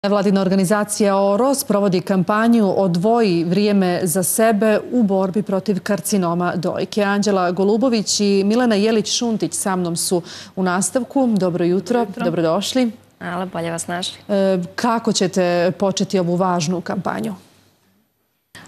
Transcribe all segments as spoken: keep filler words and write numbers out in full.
Nevladina organizacija O R O sprovodi kampanju Odvoji vrijeme za sebe u borbi protiv karcinoma dojke. Anđela Golubović i Milena Jelić-Šuntić sa mnom su u nastavku. Dobro jutro, Dobro jutro. dobrodošli. Hvala, bolje vas našli. E, kako ćete početi ovu važnu kampanju?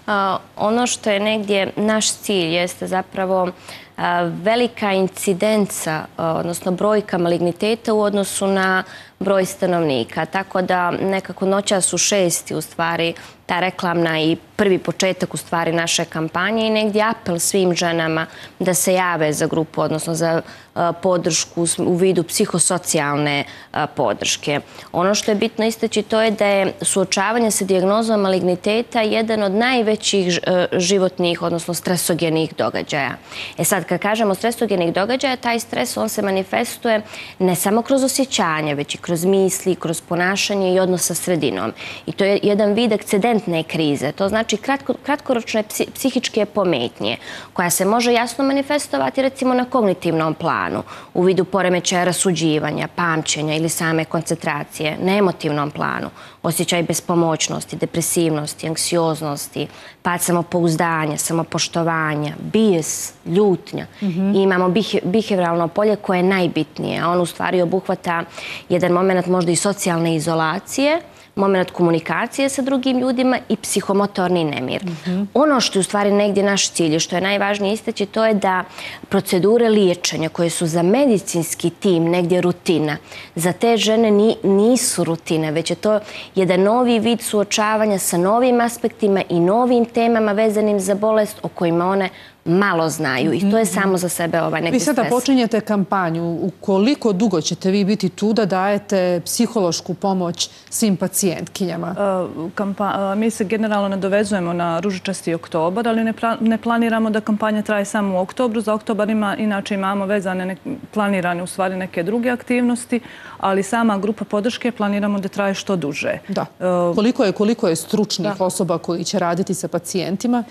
A, ono što je negdje naš cilj jeste zapravo a, velika incidenca, a, odnosno brojka maligniteta u odnosu na broj stanovnika. Tako da nekako noćas u šesti u stvari ta reklamna i prvi početak u stvari naše kampanje i negdje apel svim ženama da se jave za grupu, odnosno za a, podršku u vidu psihosocijalne a, podrške. Ono što je bitno istaći to je da je suočavanje sa dijagnozom maligniteta jedan od najvećih a, životnih, odnosno stresogenih događaja. E sad, kad kažemo stresogenih događaja, taj stres on se manifestuje ne samo kroz osjećanje, već i kroz misli, kroz ponašanje i odnos sa sredinom. I to je jedan vid akcidentne krize. To znači kratko, kratkoročne psi, psihičke pometnje koja se može jasno manifestovati recimo na kognitivnom planu u vidu poremećaja rasuđivanja, pamćenja ili same koncentracije, na emotivnom planu, osjećaj bespomoćnosti, depresivnosti, anksioznosti, pad samopouzdanja, samopoštovanja, bijes, ljutnja. Mm-hmm. I imamo bihevralno polje koje je najbitnije, a on u stvari obuhvata jedan moment možda i socijalne izolacije, moment komunikacije sa drugim ljudima i psihomotorni nemir. Mm-hmm. Ono što je u stvari negdje naš cilj i što je najvažnije istaći, to je da procedure liječenja koje su za medicinski tim negdje rutina, za te žene ni, nisu rutine, već je to jedan novi vid suočavanja sa novim aspektima i novim temama vezanim za bolest o kojima one malo znaju i to je samo za sebe ovaj neki stres. Vi sada počinjete kampanju. U koliko dugo ćete vi biti tu da dajete psihološku pomoć svim pacijentkinjama? Kampa mi se generalno nadovezujemo na ružičasti oktobar, ali ne, ne planiramo da kampanja traje samo u oktobru. Za oktobar ima, inače imamo vezane, ne, planirane u stvari neke druge aktivnosti, ali sama grupa podrške planiramo da traje što duže. Da. Uh, koliko je, koliko je stručnih da. osoba koji će raditi sa pacijentima?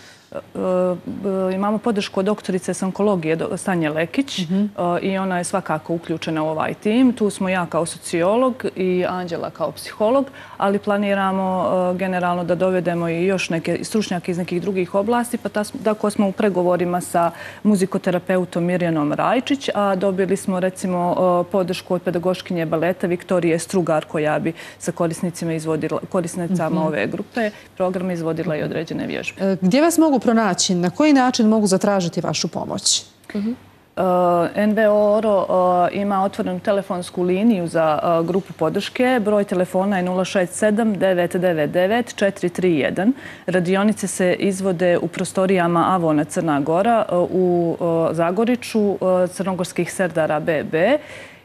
Imamo podršku od doktorice s onkologije Sanje Lekić mm-hmm. i ona je svakako uključena u ovaj tim. Tu smo ja kao sociolog i Anđela kao psiholog, ali planiramo generalno da dovedemo i još neke stručnjake iz nekih drugih oblasti, pa tako smo u pregovorima sa muzikoterapeutom Mirjanom Rajčić, a dobili smo recimo podršku od pedagoškinje baleta Viktorije Strugar koja bi sa korisnicima izvodila, korisnicama mm-hmm. ove grupe programa izvodila i određene vježbe. Gdje vas mogu pronaći? Na koji način mogu zatražiti vašu pomoć? Uh-huh. Uh, N V O O R O uh, ima otvorenu telefonsku liniju za uh, grupu podrške. Broj telefona je nula šest sedam devet devet devet četiri tri jedan. Radionice se izvode u prostorijama Avona Crna Gora uh, u uh, Zagoriću, uh, Crnogorskih Serdara B B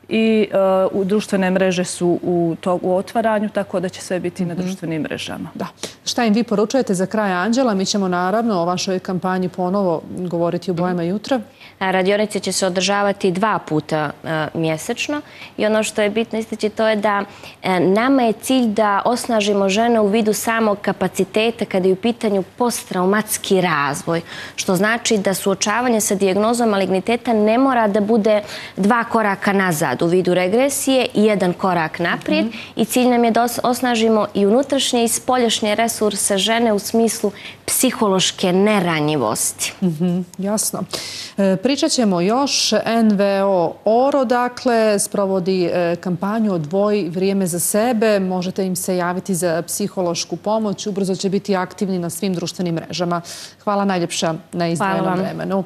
i uh, u društvene mreže su u, to, u otvaranju, tako da će sve biti mm-hmm. na društvenim mrežama. Da. Šta im vi poručujete za kraj, Anđela? Mi ćemo naravno o vašoj kampanji ponovo govoriti u Bojama jutra. Radionice će se održavati dva puta uh, mjesečno i ono što je bitno istaći to je da uh, nama je cilj da osnažimo žene u vidu samog kapaciteta kada je u pitanju posttraumatski razvoj, što znači da suočavanje sa dijagnozom maligniteta ne mora da bude dva koraka nazad u vidu regresije i jedan korak naprijed mm-hmm. i cilj nam je da osnažimo i unutrašnje i spoljašnje resurse žene u smislu psihološke neranjivosti. Mm-hmm. Jasno. E, pričat ćemo još. N V O O R O dakle sprovodi e, kampanju Odvoji vrijeme za sebe. Možete im se javiti za psihološku pomoć. Ubrzo će biti aktivni na svim društvenim mrežama. Hvala najljepša na izdvojenom vremenu.